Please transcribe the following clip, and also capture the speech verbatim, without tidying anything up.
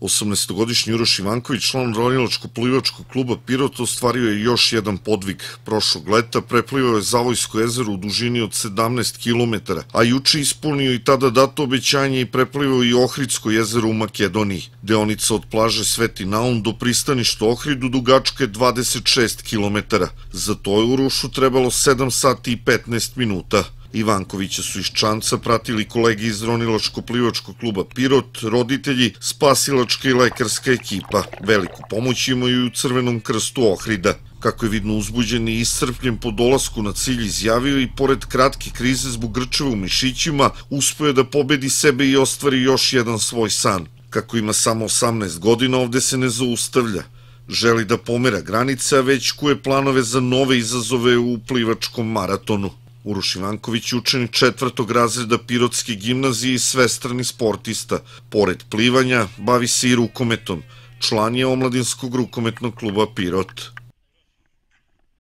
osamnaestogodišnji Uroš Ivanković, član ronilačko-plivačkog kluba Pirot, ostvario je još jedan podvig. Prošlog leta preplivao je Zavojsko jezero u dužini od sedamnaest kilometara, a juče ispunio i tada dato obećanje i preplivao i Ohridsko jezero u Makedoniji. Deonica od plaže Sveti Naum do pristaništa Ohridu dugačka je dvadeset šest kilometara. Za to je Urošu trebalo sedam sati i petnaest minuta. Ivankovića su iz Čanca pratili kolegi iz ronilačko-plivačkog kluba Pirot, roditelji, spasilačka i lekarska ekipa. Veliku pomoć imaju i u Crvenom krstu Ohrida. Kako je vidno uzbuđen i iscrpljen po dolasku na cilj, izjavio i pored kratke krize zbog grčeva u mišićima, uspeo je da pobedi sebe i ostvari još jedan svoj san. Kako ima samo osamnaest godina, ovde se ne zaustavlja. Želi da pomera granice, a već kuje planove za nove izazove u plivačkom maratonu. Uroš Ivanković je učenik četvrtog razreda Pirotske gimnazije i svestrani sportista. Pored plivanja, bavi se i rukometom. Član je omladinskog rukometnog kluba Pirot.